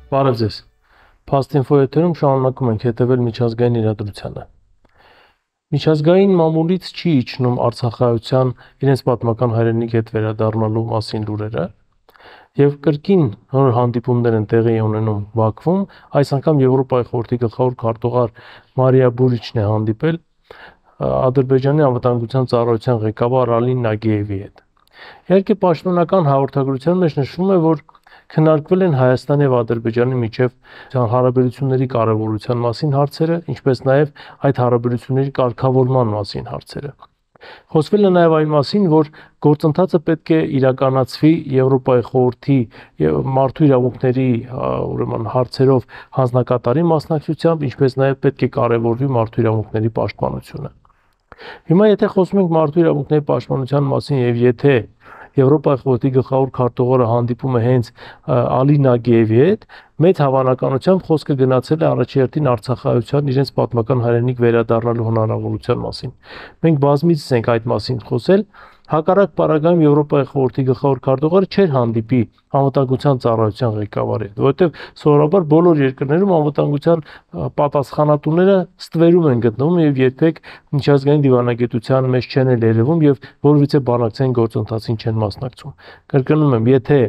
Բարև ձեզ։ Փաստինֆո եթերում շարունակում ենք հետևել միջազգային իրադրությանը։ Միջազգային մամուլից չի իջնում Արցախայության իրենց պատմական հայրենիք հետ վերադառնալու մասին լուրերը, եւ կրկին նոր հանդիպումներ են տեղի ունենում Բաքվում, այս անգամ Եվրոպայի խորհրդի գլխավոր քարտուղար Մարիա Բուրիչն է հանդիպել Ադրբեջանի անվտանգության ծառայության ղեկավար Ալի Նագիևի հետ։ Իհարկե պաշտոնական հաղորդագրության մեջ նշվում է, որ քննարկվել են Հայաստանի եւ Ադրբեջանի միջև հարաբերությունների կարեւորության մասին հարցերը, ինչպես նաեւ այդ հարաբերությունների կարգավորման մասին հարցերը։ Խոսվել է նաեւ այն մասին, որ գործընթացը պետք է իրականացվի Եվրոպայի խորհրդի մարդու իրավունքների ուրեմն հարցերով հանձնակատարի մասնակցությամբ, ինչպես նաեւ պետք է կարեւորվի մարդու իրավունքների պաշտպանությունը։ Հիմա եթե խոսում ենք մարդու իրավունքների պաշտպանության մասին եւ եթե Եվրոպայի խորհրդի գլխավոր քարտուղարը հանդիպում է հենց Ալի Նագիևի հետ, մեծ հավանականությամբ խոսքը գնացել է առաջերտին Արցախայության իրենց պատմական հայրենիք վերադառնալու հնարավորության մասին։ Մենք բազմիցս ենք այդ մասին խոսել, հակառակ պարագայում Եվրոպայի խորհրդի գլխավոր քարտուղարը չէր հանդիպի անվտանգության ծառայության ղեկավարի հետ, որովհետև սովորաբար բոլոր երկրներում անվտանգության պատասխանատուները ստվերում են գտնվում եւ երբեք միջազգային դիվանագիտության մեջ չեն երևում եւ որևիցե բանակցային գործընթացին չեն մասնակցում։ Կրկնում եմ, եթե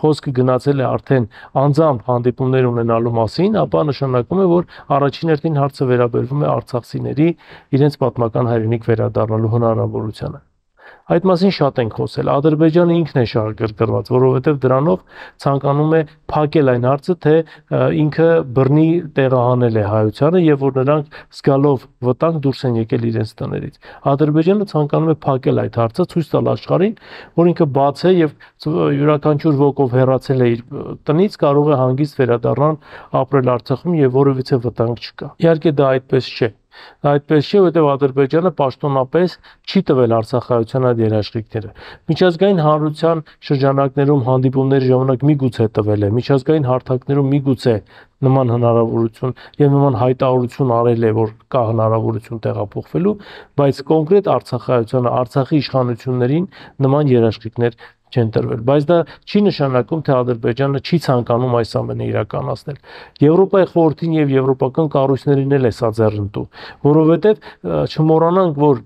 խոսքը գնացել է արդեն անձամբ հանդիպումներ ունենալու մասին, ապա նշանակում է, որ առաջին հերթին հարցը վերաբերվում է արցախցիների իրենց պատմական հայրենիք վերադառնալու հնարավորությանը։ Այդ մասին շատ ենք խոսել։ Ադրբեջանը ինքն է շահագրգռված, որովհետև դրանով ցանկանում է փակել այն հարցը, թե ինքը բռնի տեղահանել է հայությանը եւ որ նրանք զգալով վտանգ դուրս են եկել իրենց տներից։ Ադրբեջանը ցանկանում է փակել այդ հարցը, ցույց տալ աշխարհին, որ ինքը բաց է եւ յուրաքանչյուր ոքով հեռացել է իր տնից կարող է հանգիստ վերադառնալ ապրել Արցախում եւ որևիցե վտանգ չկա։ Իհարկե դա այդպես չէ։ Այդպես չէ, որովհետև Ադրբեջանը պաշտոնապես չի տվել Արցախայության այդ երաշխիքները։ Միջազգային հանրության շրջանակներում հանդիպումների ժամանակ միգուցե տվել է, միջազգային հարթակներում միգուցե նման հնարավորություն եւ նման հայտարարություն արել է, որ կա հնարավորություն տեղափոխվելու, բայց կոնկրետ Արցախայությանը, Արցախի իշխանություններին նման երաշխիքներ չեն տրվել, բայց դա չի նշանակում, թե Ադրբեջանը չի ցանկանում այս ամենը իրականացնել։ Եվրոպայի խորհրդին եւ եվրոպական կառույցներին էլ է սա ձեռնտու, որովհետեւ չմոռանանք, որ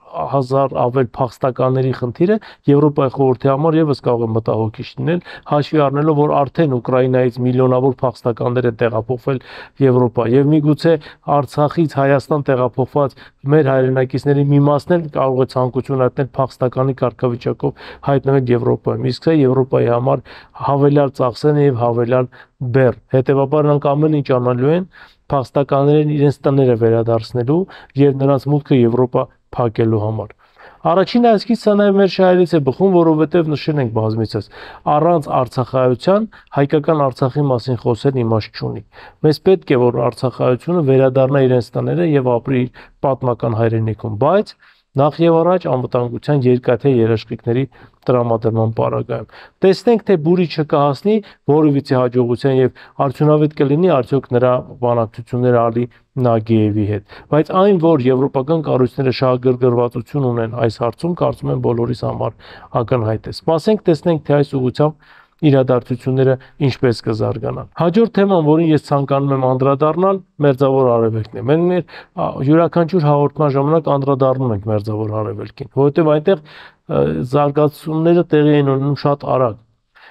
100,000 ավել փախստականների խնդիրը Եվրոպայի խորհրդի համար եւս կարող է մտահոգիչ լինել, հաշվի առնելով, որ արդեն Ուկրաինայից միլիոնավոր փախստականներ են տեղափոխվել Եվրոպա եւ միգուցե Արցախից Հայաստան տեղափոխված մեր հայրենակիցների մի մասն էլ կարող է ցանկություն հայտնել փախստականի կարգավիճակով հայտնվել Եվրոպայում, իսկ սա Եվրոպայի համար հավելյալ ծախսեն եւ հավելյալ բեռ։ Հետեւաբար նրանք ամեն ինչ անելու են փախստականներին իրենց տները վերադարձնելու եւ նրանց մուտքը Եվրոպա փակելու համար։ Առաջին այսքից սա նաև մեր շահերից է բխում, որովհետև նշել ենք բազմիցս, առանց արցախայության հայկական Արցախի մասին խոսել իմաստ չունի։ Մեզ պետք է, որ արցախայությունը վերադառնա իրենց տները եւ ապրի իր պատմական հայրենիքում, բայց նախ եւ առաջ անվտանգության երկաթե երաշխիքների տրամադրման պարագայում։ Տեսնենք, թե Բուրիչը կհասնի որևիցե հաջողության եւ արդյունավետ կլինի արդյոք նրա բանակցությունները Ալի Նագիևի հետ։ Բայց այն, որ եվրոպական կառույցները շահագրգռվածություն ունեն այս հարցում, կարծում եմ բոլորիս համար ակնհայտ է։ Սպասենք, տեսնենք, թե այս ուղղությամբ իրադարձությունները ինչպես կզարգանան։ Հաջորդ թեման, որին ես ցանկանում եմ անդրադառնալ, Մերձավոր Արևելքն է։ Մենք յուրաքանչյուր հաղորդման ժամանակ անդրադառնում ենք Մերձավոր Արևելքին, որովհետև այնտեղ զարգացումները տեղի են ունենում շատ արագ։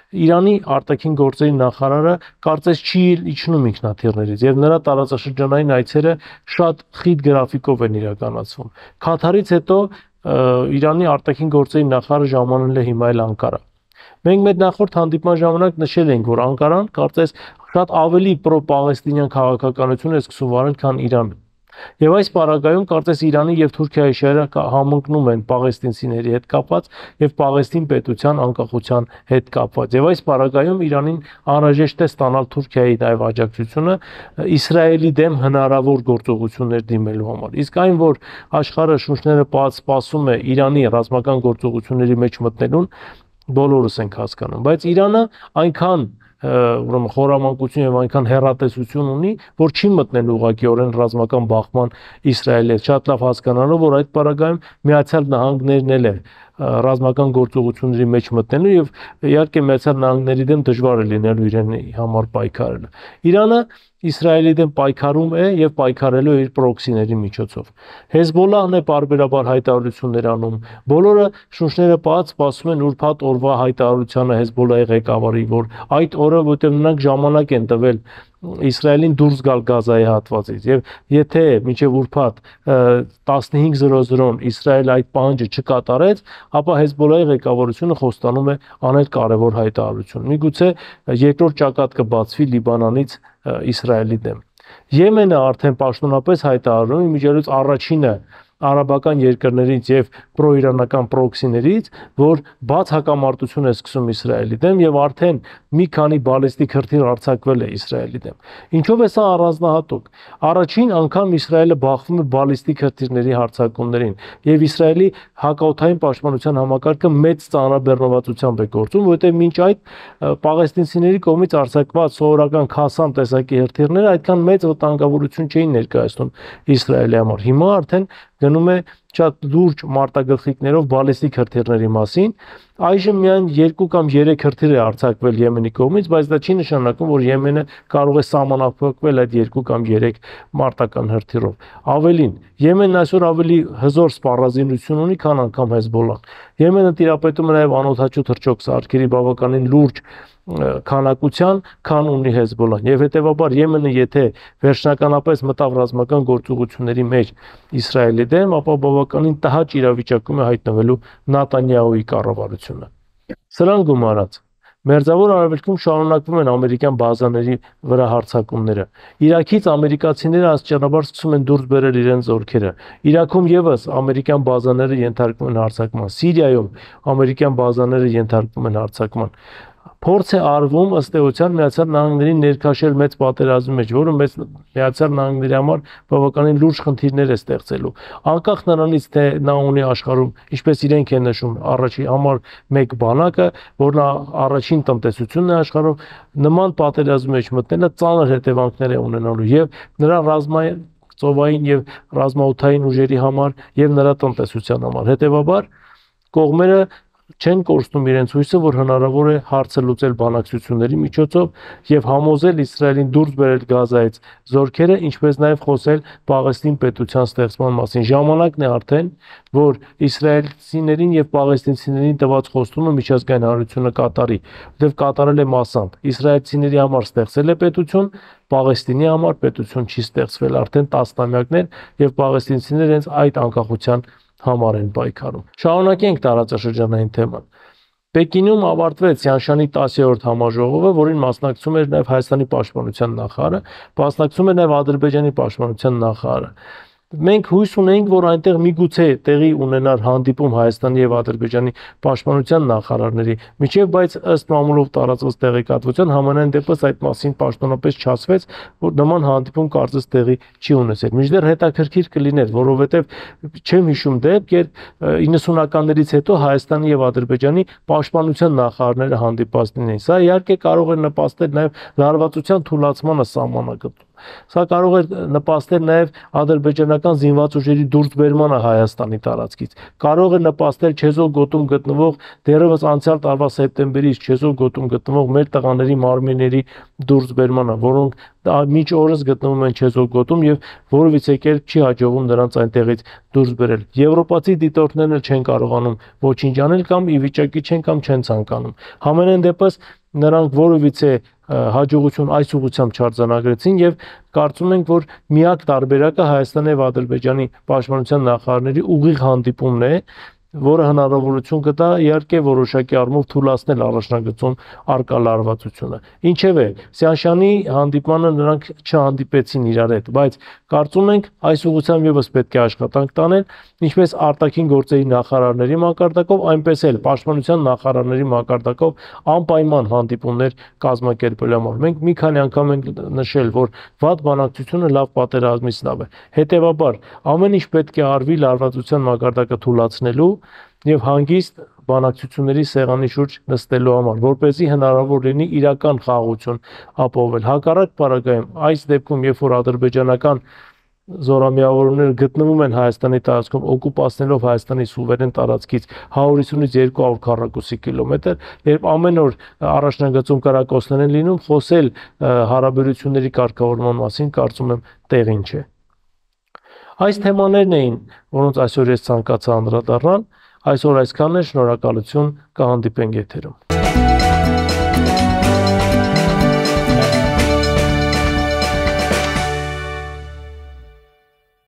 Իրանի արտաքին գործերի նախարարը կարծես չի իջնում ինքնաթիռներից եւ նրա տարածաշրջանային այցերը շատ խիտ գրաֆիկով են իրականացվում։ Քաթարից հետո Իրանի արտաքին գործերի նախարարը ժամանել է հիմա էլ Անկարա։ Մենք մեր նախորդ հանդիպման ժամանակ նշել ենք, որ Անկարան կարծես շատ ավելի պրո-պաղեստինյան քաղաքականություն է սկսում վարել, քան Իրանը։ Եվ այս պարագայում կարծես Իրանի եւ Թուրքիայի շահերը համընկնում են պաղեստինցիների հետ կապված եւ Պաղեստին պետության անկախության հետ կապված։ Եվ այս պարագայում Իրանին անհրաժեշտ է ստանալ Թուրքիայի նաեւ աջակցությունը Իսրայելի դեմ հնարավոր գործողություններ դիմելու համար։ Իսկ այն, որ աշխարհը շունչները սպասում է Իրանի ռազմական գործողությունների մեջ մտնելուն, բոլորս ենք հասկանում, բայց Իրանը այնքան ուրեմն խորամանկություն եւ այնքան հեռատեսություն ունի, որ չի մտնել ուղղակիորեն ռազմական բախման Իսրայելի հետ, շատ լավ հասկանալով, որ այդ պարագայում Միացյալ Նահանգներն էլ է ռազմական գործողությունների մեջ մտնելու եւ իհարկե Միացյալ Նահանգների դեմ դժվար է լինելու իրեն համար պայքարելը։ Իրանը Իսրայելի դեմ պայքարում է եւ պայքարելու իր պրոքսիների միջոցով։ Հեզբոլլահն է պարբերաբար հայտարարություններ անում։ Բոլորը շունչները բաց սպասում են ուրբաթ օրվա հայտարարությանը Հեզբոլլահի ղեկավարի, որ այդ օրը, որտեղ նրանք ժամանակ են տվել Իսրայելին դուրս գալ Գազայի հատվածից եւ եթե մինչեւ ուրբաթ 15:00-ն Իսրայելը այդ պահանջը չկատարեց, ապա Հեզբոլլահի ղեկավարությունը խոստանում է անել կարևոր հայտարարություն։ Միգուցե երկրորդ ճակատ կբացվի Լիբանանից Իսրայելի դեմ։ Եմենը արդեն պաշտոնապես հայտարարում է միջելուց առաջինը արաբական երկրներից եւ պրոիրանական պրոքսիներից, որ բաց հակամարտություն է սկսում Իսրայելի դեմ եւ արդեն մի քանի բալիստիկ հրթիռ արձակվել է Իսրայելի դեմ։ Ինչով է սա առանձնահատուկ։ Առաջին անգամ Իսրայելը բախվում է բալիստիկ հրթիռների հարձակումներին եւ Իսրայելի հակաօդային պաշտպանության համակարգը մեծ ծանրաբեռնվածությամբ է գործում, որովհետեւ մինչ այդ պաղեստինցիների կողմից արձակված սովորական Քասամ տեսակի հրթիռները այդքան մեծ վտանգավորություն չէին ներկայացնում Իսրայելի համար։ Հիմա արդեն գնում է շատ լուրջ մարտագլխիկներով բալիստիկ հրթիռների մասին։ Այժմ միայն 2 կամ 3 հրթիռ է արձակվել Եմենի կողմից, բայց դա չի նշանակում, որ Եմենը կարող է սահմանափակվել այդ 2 կամ 3 մարտական հրթիռով։ Ավելին, Եմենն այսօր ավելի հզոր սպառազինություն ունի, քան անգամ Հեզբոլլահն։ Եմենը տիրապետում է նաև անօդաչու թռչող սարքերի բավականին լուրջ քանակության, քան ունի Հեզբոլլահն։ Եվ հետևաբար Եմենը եթե վերջնականապես մտավ ռազմական գործողությունների մեջ Իսրայելի դեմ, ապա բավականին տհաճ իրավիճակում է հայտնվելու Նատանյահուի կառավարությունը։ Սրան գումարած Մերձավոր Արևելքում շարունակվում են ամերիկյան բազաների վրա հարձակումները։ Իրաքից ամերիկացիները աստիճանաբար սկսում են դուրս բերել իրենց զորքերը։ Իրաքում եւս ամերիկյան բազաները ենթարկվում են հարձակման։ Սիրիայում ամերիկյան բազաները ենթարկվում են հարձակման։ Փորձ է արվում ըստ էության Միացյալ Նահանգներին ներքաշել մեծ պատերազմի մեջ, որը Միացյալ Նահանգների համար բավականին լուրջ խնդիրներ է ստեղծելու։ Անկախ նրանից, թե նա ունի աշխարհում, ինչպես իրենք են նշում, առաջի համար մեկ բանակը, որն առաջին տնտեսությունն է աշխարհում, նման պատերազմի մեջ մտնելը ծանր հետևանքներ է ունենալու եւ նրա ռազմային ծովային եւ ռազմաօդային ուժերի համար եւ նրա տնտեսության համար։ Հետևաբար կողմերը չեն կորցնում իրենց հույսը, որ հնարավոր է հարցը լուծել բանակցությունների միջոցով եւ համոզել Իսրայելին դուրս բերել Գազայից զորքերը, ինչպես նաեւ խոսել Պաղեստին պետության ստեղծման մասին։ Ժամանակն է արդեն, որ իսրայելցիներին եւ պաղեստինցիներին տված խոստումը միջազգային հանրությունը կատարի, որտեղ կատարել է մասամբ։ Իսրայելցիների համար ստեղծել է պետություն, Պաղեստինի համար պետություն չի ստեղծվել արդեն տասնամյակներ եւ պաղեստինցիները հենց այդ անկախության համար են պայքարում։ Շարունակենք տարածաշրջանային թեման։ Պեկինում ավարտվեց Սյանշանի 10-րդ համաժողովը, որին մասնակցում էր նաև Հայաստանի պաշտպանության նախարարը, մասնակցում էր նաև Ադրբեջանի պաշտպանության նախարարը։ Մենք հույս ունենք, որ այնտեղ միգուցե տեղի ունենար հանդիպում Հայաստանի եւ Ադրբեջանի պաշտպանության նախարարների միջև, բայց ըստ մամուլով տարածված տեղեկատվության համանայն դեպս այդ մասին պաշտոնապես չասվեց, որ նման հանդիպում կարծես տեղի չի ունեցել։ Մինչդեռ հետաքրքիր կլիներ, որովհետեւ չեմ հիշում դեպք, երբ 90-ականներից հետո Հայաստանի եւ Ադրբեջանի պաշտպանության նախարարները հանդիպած լինեին։ Սա իհարկե կարող է նպաստել նաեւ լարվածության թուլացմանը սահմանագծում։ Սա կարող է նպաստել նաև ադրբեջանական զինված ուժերի դուրսբերմանը Հայաստանի տարածքից։ Կարող է նպաստել Չեզոք գոտում գտնվող դեռևս անցյալ տարվա սեպտեմբերից Չեզոք գոտում գտնվող մեր տղաների մարմինների դուրսբերմանը, որոնք մինչ օրս գտնվում են Չեզոք գոտում եւ որևիցե կերպ չի հաջողվում նրանց այնտեղից դուրս բերել։ Եվրոպացի դիտորդներն էլ չեն կարողանում ոչինչ անել կամ ի վիճակի չեն կամ չեն ցանկանում։ Համենայն դեպս նրանք որևիցե հաջողություն այս ուղղությամբ չարձանագրեցին եւ կարծում ենք, որ միակ տարբերակը Հայաստանի եւ Ադրբեջանի պաշտպանության նախարարների ուղիղ հանդիպումն է, որը հնարավորություն կտա իհարկե որոշակի առումով թույլատնել առաջնագծում արկա լարվածությունը։ Ինչևէ, Սյանշանի հանդիպմանը նրանք չհանդիպեցին իրար հետ, բայց կարծում ենք այս ուղղությամբ եւս պետք է աշխատանք տանել, ինչպես արտաքին գործերի նախարարների մակարդակով, այնպես էլ պաշտպանության նախարարների մակարդակով անպայման հանդիպումներ կազմակերպելու համար։ Մենք մի քանի անգամ ենք նշել, որ վատ բանակցությունը լավ պատերազմից լավ է։ Հետևաբար ամեն ինչ պետք է արվի լարվածության մակարդակը թույլատնելու եւ հանգիստ բանակցությունների սեղանի շուրջ նստելու համար, որպեսզի հնարավոր լինի իրական խաղաղություն ապահովել։ Հակառակ պարագայում, այս դեպքում, երբ որ ադրբեջանական զորամիավորները գտնվում են Հայաստանի տարածքում, օկուպացնելով Հայաստանի սուվերեն տարածքից 150-ից 200 քառակուսի կիլոմետր, երբ ամեն օր առաջնագծում կրակոցներ են լինում, խոսել հարաբերությունների կարգավորման մասին կարծում եմ տեղին չէ։ Այս թեմաներն էին, որոնց այսօր ես ցանկացա անդրադառնալ, այսօր այսքանն է, շնորհակալություն, կհանդիպենք եթերում։